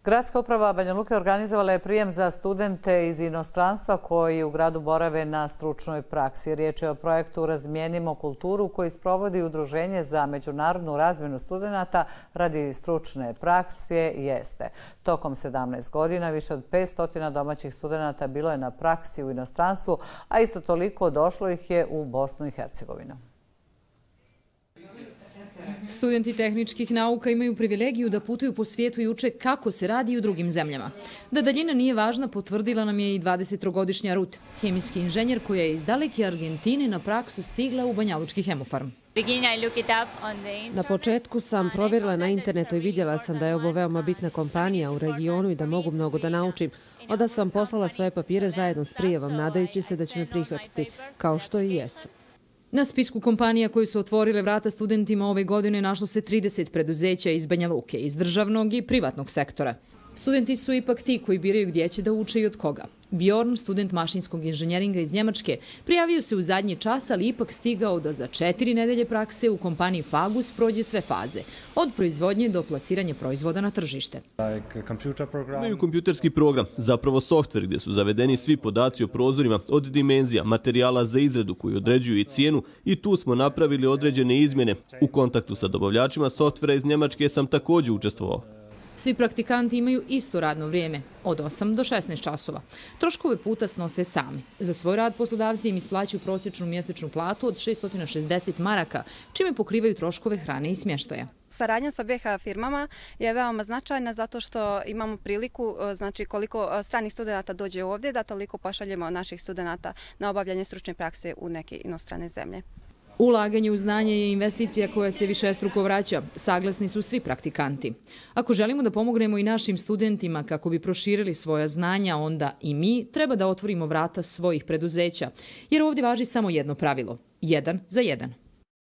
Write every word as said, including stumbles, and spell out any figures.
Gradska uprava Banja Luke organizovala je prijem za studente iz inostranstva koji u gradu borave na stručnoj praksi. Riječ je o projektu Razmijenimo kulturu koji sprovodi Udruženje za međunarodnu razmjenu studenata radi stručne prakse Jeste. Tokom sedamnaest godina više od petsto domaćih studenata bilo je na praksi u inostranstvu, a isto toliko došlo ih je u Bosnu i Hercegovinu. Studenti tehničkih nauka imaju privilegiju da putuju po svijetu i uče kako se radi u drugim zemljama. Da daljina nije važna potvrdila nam je i dvadesettrogodišnja Rut, hemijski inženjer koja je iz daleke Argentine na praksu stigla u Banjalučki hemofarm. Na početku sam provjerila na internetu i vidjela sam da je ovo veoma bitna kompanija u regionu i da mogu mnogo da naučim. Onda sam poslala svoje papire zajedno s prijavom, nadajući se da će me prihvatiti, kao što i jesu. Na spisku kompanija koje su otvorile vrata studentima ove godine našlo se trideset preduzeća iz Banja Luke, iz državnog i privatnog sektora. Studenti su ipak ti koji biraju gdje će da uče i od koga. Bjorn, student mašinskog inženjeringa iz Njemačke, prijavio se u zadnji čas, ali ipak stigao da za četiri nedelje prakse u kompaniji Fagus prođe sve faze, od proizvodnje do plasiranja proizvoda na tržište. Imaju kompjuterski program, zapravo softver gdje su zavedeni svi podaci o prozorima, od dimenzija, materijala za izradu koji određuju i cijenu, i tu smo napravili određene izmjene. U kontaktu sa dobavljačima softvera iz Njemačke sam također učestvovao. Svi praktikanti imaju isto radno vrijeme, od osam do šesnaest časova. Troškove puta snose sami. Za svoj rad poslodavci im isplaćuju prosječnu mjesečnu platu od šeststo šezdeset maraka, čime pokrivaju troškove hrane i smještaja. Saradnja sa B H firmama je veoma značajna zato što imamo priliku, znači koliko stranih studenata dođe ovdje, da toliko pošaljemo naših studenata na obavljanje stručne prakse u neke inostrane zemlje. Ulaganje u znanje je investicija koja se višestruko vraća, saglasni su svi praktikanti. Ako želimo da pomognemo i našim studentima kako bi proširili svoja znanja, onda i mi treba da otvorimo vrata svojih preduzeća, jer ovdje važi samo jedno pravilo – jedan za jedan.